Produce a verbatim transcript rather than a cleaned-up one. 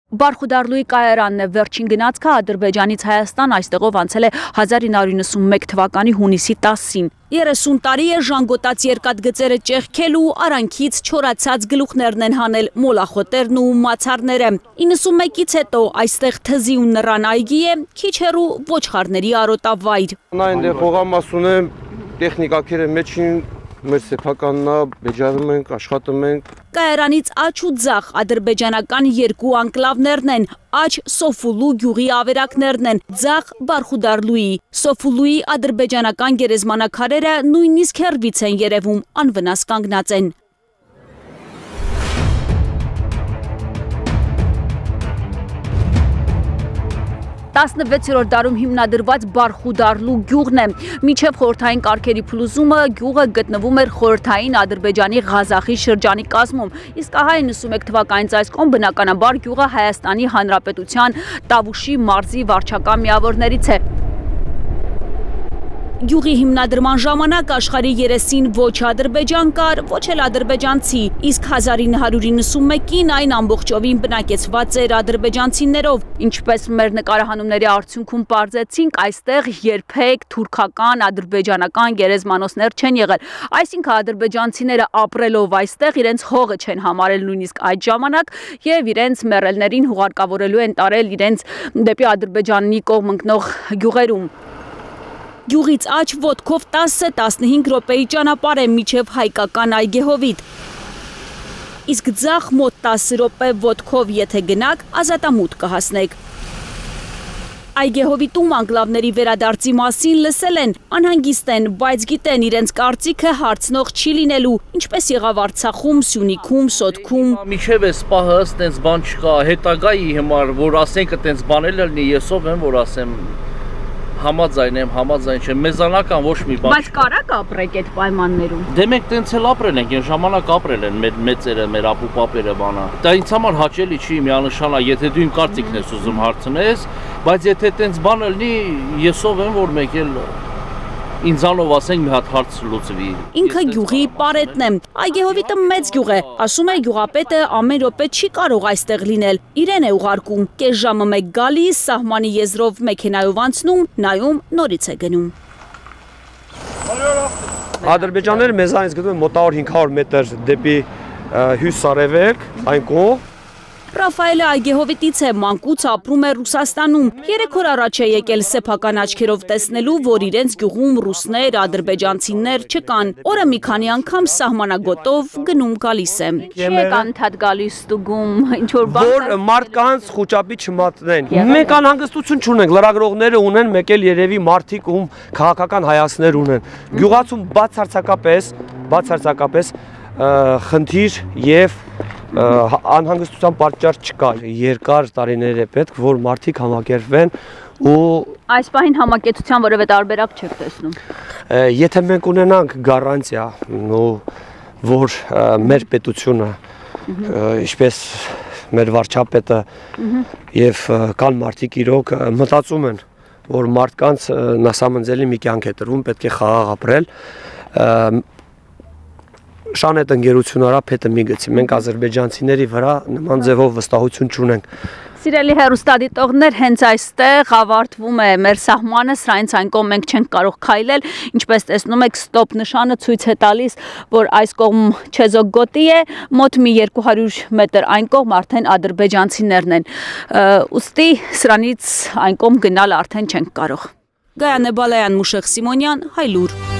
Բարխուդարլուի կայարանն է վերջին գնացքը Ադրբեջանից Հայաստան այստեղով անցել է հազար ինը հարյուր նվաթ թվականի հունիսի տասին։ երեսուն տարի է ժանգոտած երկաթգծերը ճեղքելու, արանքից չորացած գլուխներն են հանել մոլախոտերն ու մացառները։ իննսունմեկից հետո այստեղ թզի ու նռան այգի է, քիչ հեռու ոչխարների արոտավայր։ Այնտեղ հողամասուն է, տեխնիկակերը մեջին մեր սեփականն է, բեջանում ենք, աշխատում ենք։ Կայարանից աջ ու ձախ ադրբեջանական երկու անկլավներն են, աջ Սոֆուլու գյուղի ավերակներն են, ձախ Բարխուդարլուի։ Սոֆուլուի ադրբեջանական գերեզմանակարերը նույնիսկ հեռվից են երևում, անվնաս կանգնած են։ տասնվեցերորդ դարում հիմնադրված Բարխուդարլու գյուղն է։ Մինչև խորհրդային կարգերի փլուզումը գյուղը գտնվում էր խորհրդային Ադրբեջանի Ղազախի շրջանի կազմում, իսկ ահա իննսունմեկ թվականից այս կողմ բնականաբար գյուղը Հայաստանի Հանրապետության Տավուշի մարզի վարչական միավորներից է։ Գյուղի հիմնադրման ժամանակ աշխարհի երեսին ոչ ադրբեջան կար, ոչ էլ ադրբեջանցի, իսկ հազար ինը հարյուր իննսունմեկին այն ամբողջովին բնակեցված էր ադրբեջանցիներով, ինչպես մեր նկարահանումների արդյունքում պարզեցինք, այստեղ երբեք թուրքական, ադրբեջանական գերեզմանոցներ չեն եղել, այսինքն ադրբեջանցիները ապրելով այստեղ իրենց հողը չեն համարել նույնիսկ այդ ժամանակ եւ իրենց մեռելներին հուղարկավորելու են տարել իրենց դեպի Ադրբեջանի կողմ ընկնող գյուղերում։ Գյուղից աջ ոտքով տասը տասնհինգ րոպեի ճանապարհ է մինչև հայկական Այգեհովիտ։ Իսկ ձախ մոտ տասը րոպե ոտքով եթե գնաք, ազատամուտ կհասնեք։ Այգեհովիտում անկլավների վերադարձի մասին լսել են, անհանգիստ են, բայց գիտեն իրենց կարծիքը հարցնող չի լինելու, ինչպես եղավ Արցախում, Սյունիքում, Սոտքում։ Միջև էս պահը այդպես բան չկա, հետագայի համար, որ ասենք այդպես բանել լինի, ես ով եմ, որ ասեմ համաձայն եմ, համաձայն չեմ, մեզանական ոչ մի բան։ Բայց կարա՞ք ապրեք այդ պայմաններում։ Դե մենք տենց էլ ապրել ենք, այն ժամանակ ապրել են մեր մեծերը, մեր ապուպապերը բանա։ Դա ինձ համար հաճելի չի, միանշանակ, եթե դու իմ կարծիքն ես ուզում հարցնես, բայց եթե տենց բան լինի, ես ով եմ, որ մեկ էլ ինձանով ասենք մի հատ հարց լուծվի։ Ինքը գյուղի պարետն է։ Այգեհովիտը մեծ գյուղ է, ասում է գյուղապետը ամեն րոպե չի կարող այստեղ լինել, իրեն է ուղարկում, կես ժամը մեկ գալիս, սահմանի եզրով մեքենայով անցնում, նայում, նորից է գնում։ Ադրբեջանները մեզանից գտնվում են մոտավոր հինգ հարյուր մետր դեպի հյուսիսարևելք, այն կողմ։ Ռաֆայելը Այգեհովիտից է, մանկուց ապրում է Ռուսաստանում, երեք օր առաջ է եկել սեփական աչքերով տեսնելու, որ իրենց գյուղում ռուսներ, ադրբեջանցիներ չկան, օրը մի քանի անգամ սահմանագոտով գնում գալիս է։ Չեք անդադ գալիս ստուգում, ինչ որ բան։ Որ մարդկանց խոճապի չմատնեն։ Մենք անհանգստություն չունենք, լրագրողները ունեն, մեկ էլ երևի մարդիկ ում քաղաքական հայացքներ ունեն։ Գյուղացում բացարձակապես, բացարձակապես խնդիր եւ անհանգստության պատճառ չկա։ Երկար տարիներ է պետք, որ մարդիկ համակերպվեն ու այս պահին համակեցության որևէ տարբերակ չեք տեսնում։ Եթե մենք ունենանք գարանտիա, որ մեր պետությունը, ինչպես մեր վարչապետը եւ կան մարդիկ իրոք մտածում են, որ մարդկանց նասամնձելի մի կյանք է տրվում, պետք է խաղաղ ապրել, շանետ ընկերություն արա փետը մի գցի, մենք ադրբեջանցիների վրա նման ձևով վստահություն չունենք։ Սիրելի հեռուստադիտողներ, հենց այստեղ ավարտվում է մեր սահմանը, սրանից այն կողմ մենք չենք կարող քայլել, ինչպես տեսնում եք ստոպ նշանը ցույց է տալիս, որ այս կողմ Չեզոք գոտի է, մոտ մի երկու հարյուր մետր այն կողմ արդեն ադրբեջանցիներն են, ուստի սրանից այն կողմ գնալ արդեն չենք կարող։ Գայանե Բալայան, Մուշեղ Սիմոնյան, Հայլուր։